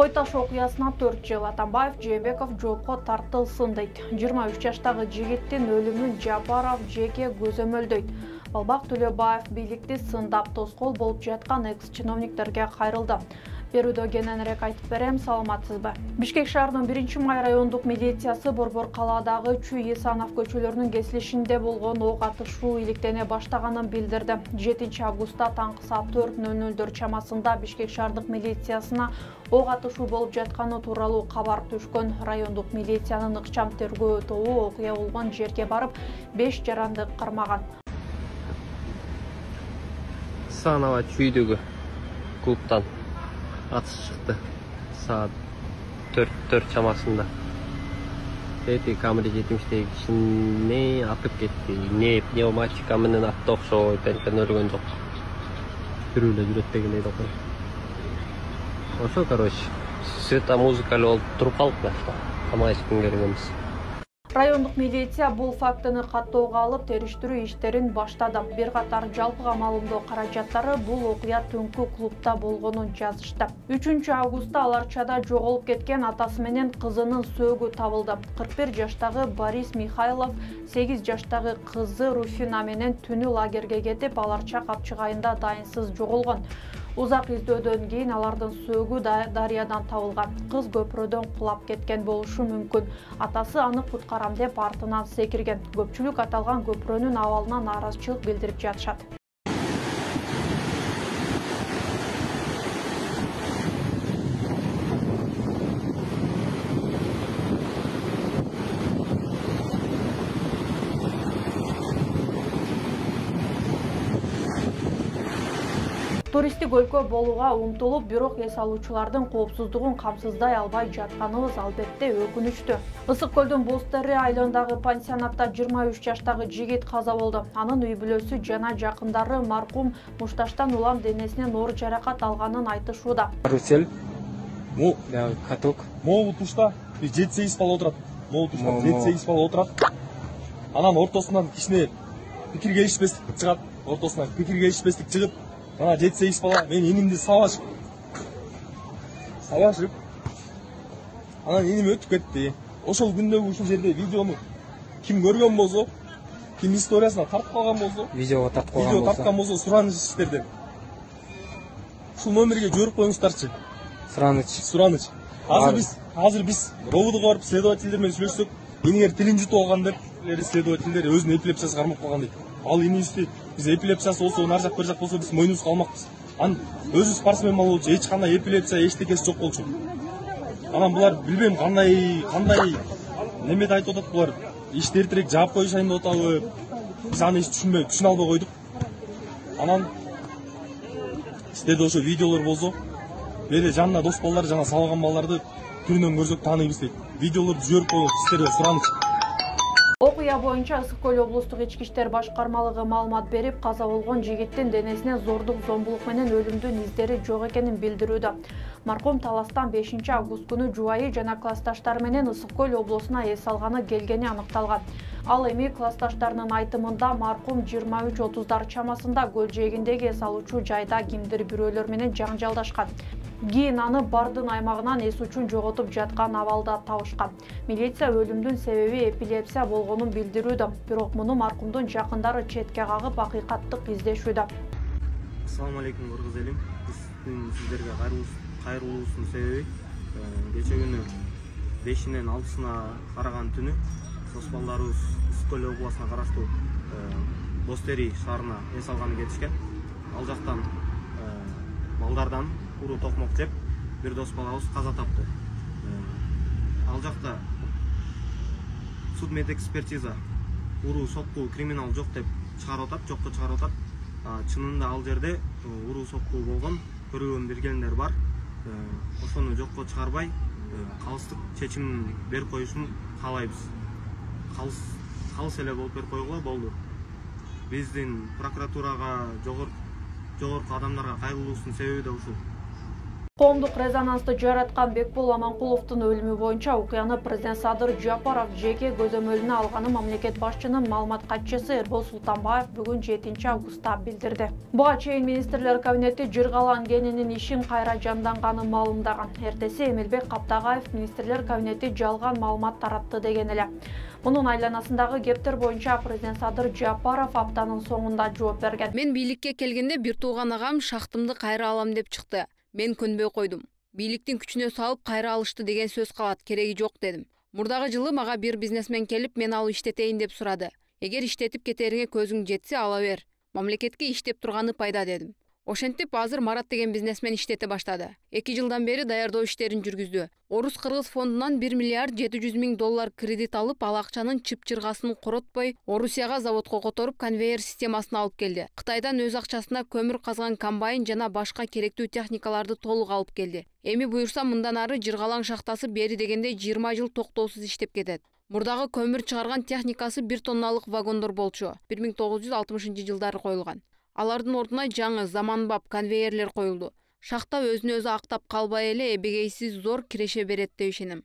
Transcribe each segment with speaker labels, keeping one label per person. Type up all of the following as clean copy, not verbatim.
Speaker 1: Кой таш окуясына 4 жыл Атамбаев Жээнбеков жоопко тартылсын дейт. 23 жаштагы жигиттин өлүмүн Жапаров жеке көзөмөлдөйт. Балбак Төлөбаев бийликти сындап тоскоол болуп жаткан экс-чиновниктерге кайрылды. Берүүдө кененирээк айтып берем, саламатсызбы? Бишкек шаарынын 1-май райондук милициясы Борбор калаадагы Чүй Исанов көчөлөрүнүн кесилишинде болгон ок атышуу иликтене баштаганын билдирди. 7 августта таңкы саат 4:00 чамасында Бишкек шаардык милициясына ок атышуу болуп жатканы тууралуу кабар түшкөн. Райондук милициянын ыкчам тергөө тобу окуя болгон жерге барып, 5 жаранды кармаган.
Speaker 2: Исанова Чүйдөгү клубтан атыш чыкты саат 4 чамасында. Эти камера 70-теги кишини атып кетти. Не пневматика менен атты окшойт, энтен өлгөн жок. Жүрүлө жүрөт деген дейт окуй. Ошо, короче, света музыкалуу болуп туруп калдык да. Камай эчким келгенбиз.
Speaker 1: Райондук милиция бул фактыны каттоого алып, териштирүү иштерин баштады. Бир катар жалпыга маалымдоо каражаттары бул окуя түнкү клубда болгонун жазышты. 3 августта Аларчада жоголуп кеткен атасы менен кызынын сөөгү табылды. 41 жаштагы Борис Михайлов 8 жаштагы кызы Руфина менен түнү лагерге кетип, Аларча капчыгайында дайынсыз жоголгон. Узак издөөдөн кийин алардын сөөгү дарыядан табылган. Кыз көпүрөдөн кулап кеткен болушу мүмкүн. Атасы аны куткарам деп артынан секирген. Көпчүлүк аталган көпүрөнүн абалына нааразычылык билдирип жатышат. Туристтик өлкө болууга умтулуп, бирок эс алуучулардын коопсуздугун камсыздай албай жатканыбыз албетте өкүнүчтүү. Ысык көлдүн Бозтери айылындагы пансионатта 23 жаштагы жигит каза болду. Анын үй бүлөсү жана жакындары маркум мушташтан улам денесинен оор жаракат алганын айтышууда.
Speaker 3: Карусель, каток.
Speaker 4: Могу тушта 7-8 бала отурат. Могу тушта 7-8 бала отурат. Анан ортосунан кичине пикир келишпестик чыгат. Ортосунан пикир келишпестик чыгып, ана 7-8 бала мен инимди сабашып. Анан иним өтүп кетти. Ошол күндөгү ушул жерде видеону ким көргөн болсо, ким историясына тартып калган болсо,
Speaker 3: видеого тарткан
Speaker 4: болсо, сураныч иштерден ушул номерге жиберип коюңуздарчы. Сураныч. Азыр биз ровдуга барып следовательдер менен сүйлөшсөк, инигер тилин жутуп алган деп следовательдер өзүнүн эпилепсиясы кармап калган дейт. Ал инибизди биз эпилепсиясы болсо, нар жак бер жак болсо биз мойнубузга алмакпыз. Анан өзү спортсмен болчу, эч кандай эпилепсия, эчтекеси жок болчу. Анан булар билбейм кандай немеде айтып атат булар. Ишти эртерээк жаап коюшайын деп атабы? Биз аны түшүнө албай койдук. Анан сиздерде ошо видеолор болсо, бери жанына дос балдар жана салган балдарды түрүнөн көрсөк тааныйбыз дейт. Видеолорду жиберип коюңуз, сиздерге сураныч.
Speaker 1: Окуя боюнча Ысык Көл облустук ички иштер башкармалыгы маалымат берип, каза болгон жигиттин денесинен зордук, зомбулук менен өлүмдүн издери жок экенин билдирүүдө. Маркум таластан 5 август күнү жубайы жана классташтары менен Ысык Көл облусуна эс алганы келгени аныкталган. Ал эми классташтарынын айтымында маркум 23:30 чамасында көл жээгиндеги эс алуучу жайда кимдир бирөөлөр менен жаңжалдашкан. Кийин аны бардын аймагынан эс учун жоготуп жаткан абалда табышкан. Милиция өлүмдүн себеби эпилепсия болгонун билдирүүдө. Бирок муну маркумдун жакындары четке кагып, акыйкаттык издешүүдө.
Speaker 5: Ассаламу алейкум, кыргыз элим. Биздин сиздерге кайрылуубуздун себеби кече күнү 5-нен 6-сына караган түнү дос балдарыбыз Ысык Көл областына караштуу Бозтери шаарына эс алганы кетишкен. Ал жактан балдардан уруу токмок жеп, бир дос балабыз каза тапты. Ал жакта судмед экспертиза уруу сокку криминал жок деп чыгарып атат, жокко чыгарып атат. Чынында ал жерде уруу сокку болгон, көргөн билгендер бар. Ошону жокко чыгарбай, калыстык чечим берип коюшун каалайбыз. Калыс эле болуп берип койгула болду. Биздин прокуратурага, жогорку адамдарга кайрылуубуздун себеби да ушул.
Speaker 1: Коомдук резонансты жараткан Бекбол Аманкуловдун өлүмү боюнча окуяны президент Садыр Жапаров жеке көзөмөлүнө алганы мамлекет башчынын маалымат катчысы Эрбол Султанбаев бүгүн 7 августта билдирди. Буга чейин министрлер кабинети Жыргалан кенинин ишин кайра жанданганын маалымдаган. Эртеси Эмилбек Каптагаев министрлер кабинети жалган маалымат таратты деген эле. Мунун айланасындагы кептер боюнча президент Садыр Жапаров аптанын соңунда жооп берген.
Speaker 6: Мен бийликке келгенде бир тууган агам шахтымды кайра алам деп чыкты. Мен көнбөй койдум. Бийликтин күчүнө салып кайра алышты деген сөз калат, кереги жок дедим. Мурдагы жылы мага бир бизнесмен келип, мен алып иштетейин деп сурады. Эгер иштетип кетериңе көзүң жетсе, ала бер. Мамлекетке иштеп турганы пайда дедим. Ошентип азыр Марат деген бизнесмен иштете баштады. 2 жылдан бери даярдоо иштерин жүргүздү. Орус-Кыргыз фондунан 1 миллиард 700 миң доллар кредит алып, ал акчанын чып-чыргасын коротпой, Орусияга заводко которуп, конвейер системасын алып келди. Кытайдан өз акчасына көмүр казган комбайн жана башка керектүү техникаларды толук алып келди. Эми буюрса мындан ары Жыргалаң шахтасы бери дегенде 20 жыл токтоосуз иштеп кетет. Мурдагы көмүр чыгарган техникасы 1 тонналык вагондор болчу. 1960-жылдары коюлган. Алардын ордуна жаңы заманбап конвейерлер коюлду. Шахта өзүн өзү актап калбай эле эбегейсиз зор киреше берет деп ишенем.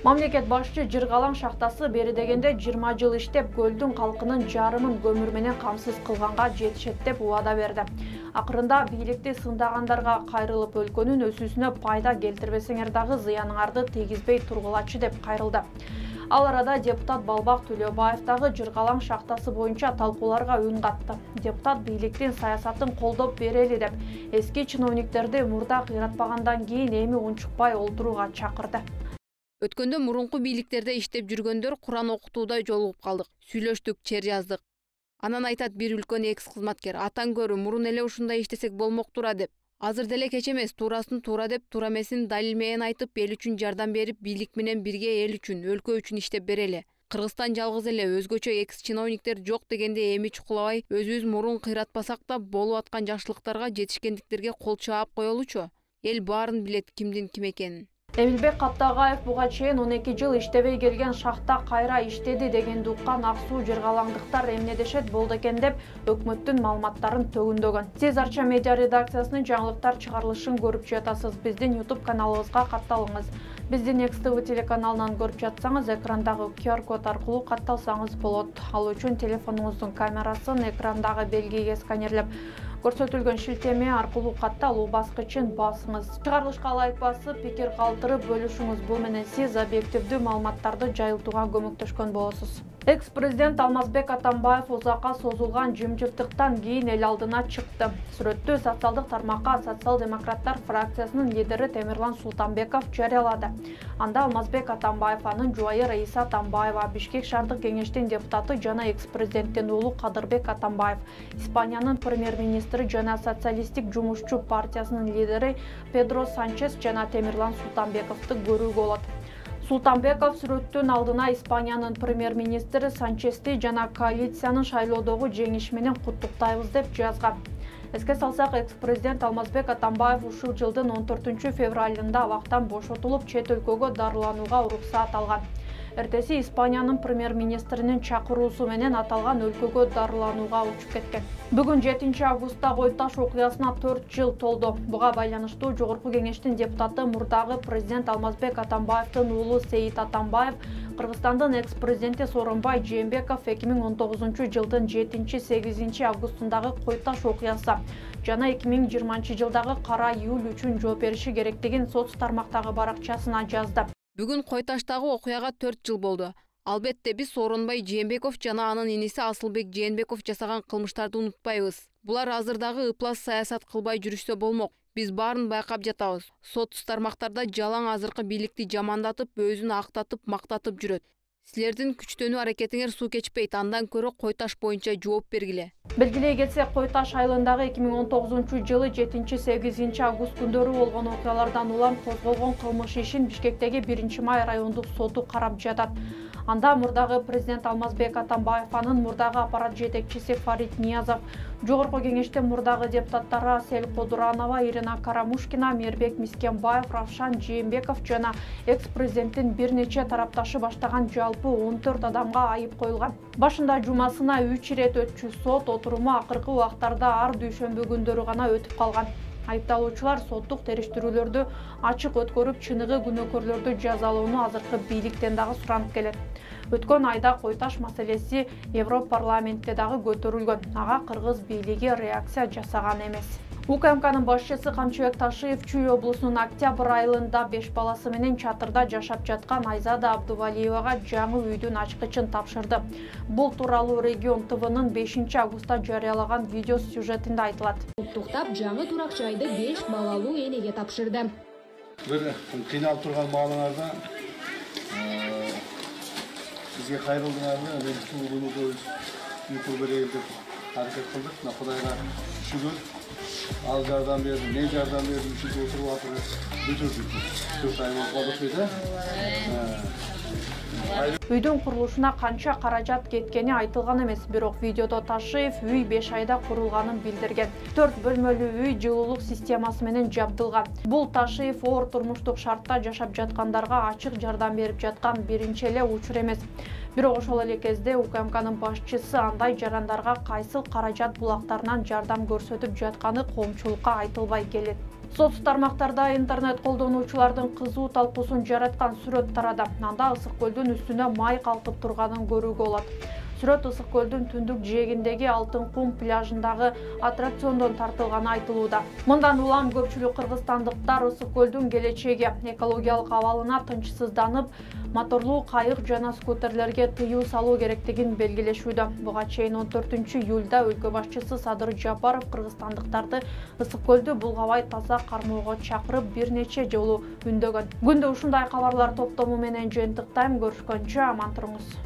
Speaker 1: Мамлекет башчы Жыргалаң шахтасы бери дегенде 20 жыл иштеп, көлдүн калкынын жарымын көмүр менен камсыз кылганга жетишет деп убада берди. Акырында бийликти сындагандарга кайрылып өлкөнүн өсүүсүнө пайда келтирбесеңер дагы зыяныңарды тийгизбей тургулачы деп кайрылды. Ал арада депутат Балбак Төлөбаев дагы Жыргалаң шахтасы боюнча талкууларга үн катты. Депутат бийликтин саясатын колдоп берели деп эски чиновниктерди мурда кыйратпагандан кийин эми унчукпай олтурууга чакырды.
Speaker 6: Өткөндө мурунку бийликтерде иштеп жүргөндөр Куран окутууда жолугуп калдык. Сүйлөштүк, чер жаздык. Анан айтат бир үлкөн экс кызматкер: "Атаң көрү, мурун эле ушундай иштесек болмоктура" деп. Азыр деле кеч эмес, туурасын туура деп, туура эмесин далил менен айтып, эл үчүн жардам берип, бийлик менен бирге эл үчүн, өлкө үчүн иштеп берели. Кыргызстан жалгыз эле, өзгөчө экс чиновниктер жок дегенде эми чукулабай, өзүбүз мурун кыйратпасак да болуп аткан жакшылыктарга, жетишкендиктерге кол чаап коелучу. Эл баарын билет кимдин ким экенин.
Speaker 1: Эмилбек Каптагаев буга чейин 12 жыл иштебей келген шахта кайра иштеди дегенди уккан Аксуу жыргалаңдыктар эмне дешет болду экен деп өкмөттүн маалыматтарын төгүндөгөн. Сиз Арча медиа редакциясынын жаңылыктар чыгарылышын көрүп жатасыз. Биздин YouTube каналыбызга катталыңыз. Биздин XTV телеканалынан көрүп жатсаңыз, экрандагы QR код аркылуу катталсаңыз болот. Ал үчүн телефонуңуздун камерасын экрандагы белгиге сканерлеп көрсөтүлгөн шилтеме аркылуу катталуу баскычын басыңыз. Чыгарылышка ылайык басып, пикир калтырып бөлүшүңүз. Бул менен сиз объективдүү маалыматтарды жайылтууга көмөктөшкөн болосуз. Экс-президент Алмазбек Атамбаев узакка созулган жымжырттыктан кийин эл алдына чыкты. Сүрөттү социалдык тармакка социал-демократтар фракциясынын лидери Темирлан Султанбеков жарыялады. Анда Алмазбек Атамбаев, анын жубайы Раиса Атамбаева, Бишкек шаардык кеңештин депутаты жана экс-президенттин уулу Кадырбек Атамбаев, Испаниянын премьер-министри жана социалисттик жумушчу партиясынын лидери Педро Санчес жана Темирлан Султанбековду көрүүгө болот. Султанбеков сүрөттүн алдына Испаниянын премьер-министри Санчести жана коалициянын шайлоодогу жеңиши менен куттуктайбыз деп жазган. Эске салсак, экс-президент Алмазбек Атамбаев ушул жылдын 14 февралында абактан бошотулуп, чет өлкөгө дарыланууга уруксаат алган. Эртеси Испаниянын премьер-министринин чакыруусу менен аталган өлкөгө дарыланууга учуп кеткен. Бүгүн 7 августта Койташ окуясына 4 жыл толду. Буга байланыштуу Жогорку кеңештин депутаты мурдагы президент Алмазбек Атамбаевдин уулу Сейит Атамбаев, Кыргызстандын экс-президенти Сооронбай Жээнбеков 2019 жылдын 7-8 августундагы Койташ окуясы жана 2020 жылдагы кара июль үчүн жооп бериши керектигин соц тармактагы баракчасына жазды.
Speaker 6: Бүгүн Койташтагы окуяга 4 жыл болду. Албетте биз Сооронбай Жээнбеков жана анын иниси Асылбек Жээнбеков жасаган кылмыштарды унутпайбыз. Булар азырдагы ыплас саясат кылбай жүрүшсө болмок. Биз баарын байкап жатабыз. Соц тармактарда жалаң азыркы бийликти жамандатып, өзүн актатып, мактатып жүрөт. Силердин күчтөнүү аракетиңер суу кечпейт, андан көрө Койташ боюнча жооп бергиле.
Speaker 1: Белгилей кетсек, Койташ айылындагы 2019 жылы 7-8 август күндөрү болгон окуялардан улам козголгон кылмыш ишин Бишкектеги 1-май райондук соту карап жатат. Анда мурдагы президент Алмазбек Атамбаев, анын мурдагы аппарат жетекчиси Фарид Ниязов, Жогорку кеңештин мурдагы депутаттары Асель Кодуранова, Ирина Карамушкина, Мирбек Мискенбаев, Равшан Жээнбеков жана экс-президенттин бир нече тарапташы баштаган жалпы 14 адамга айып коюлган. Башында жумасына 3 ирет өтчү сот отуруму акыркы убактарда ар дүйшөмбү күндөрү гана өтүп калган. Айыпталуучулар соттук териштирүүлөрдү ачык өткөрүп, чыныгы күнөөкөрлөрдү жазалоону азыркы бийликтен дагы суранып келет. Өткөн айда кой таш маселеси Европарламентте дагы көтөрүлгөн. Ага кыргыз бийлиги реакция жасаган эмес. УКМКнын башчысы Камчыбек Ташиев Чүй облусунун Октябрь айылында 5 баласы менен чатырда жашап жаткан Айзада Абдувалиевага жаңы үйдүн ачкычын тапшырды. Бул тууралуу Регион ТВнын 5 августта жарыялаган видео сюжетинде айтылат.
Speaker 7: Уктуктап, жаңы турак жайды 5 балалуу энеге тапшырды.
Speaker 8: Бир кыйналып турган маалыңарда бизге кайрылдыңарбы, YouTube берейин деп аракет кылдык. Кудайга шүгүр. Ал жардам берди, мен жардам бердим, ушинтип отуруп атырбыз. Бүтүрдүк. 4 ай болуп калды да.
Speaker 1: Үйдүн курулушуна канча каражат кеткени айтылган эмес, бирок видеодо Ташиев үй 5 айда курулганын билдирген. 4 бөлмөлүү үй жылуулук системасы менен жабдылган. Бул Ташиев оор турмуштук шартта жашап жаткандарга ачык жардам берип жаткан биринчи эле учур эмес. Бирок ошол эле кезде УКМКнын башчысы андай жарандарга кайсыл каражат булактарынан жардам көрсөтүп жатканы коомчулукка айтылбай келет. Соц тармактарда интернет колдонуучулардын кызуу талкуусун жараткан сүрөт тарады. Анда Ысык көлдүн үстүнө май калкып турганын көрүүгө болот. Сүрөт Ысык көлдүн түндүк жээгиндеги Алтын кум пляжындагы аттракциондон тартылганы айтылууда. Мындан улам көпчүлүк кыргызстандыктар Ысык көлдүн келечеги, экологиялык абалына тынчсызданып, моторлуу кайык жана скутерлерге тыюу салуу керектигин белгилешүүдө. Буга чейин 14 июлда өлкө башчысы Садыр Жапаров кыргызстандыктарды Ысык көлдү булгабай таза кармоого чакырып бир нече жолу үндөгөн. Күндө ушундай кабарлар топтому менен жыйынтыктайм. Көрүшкөнчө аман туруңуз.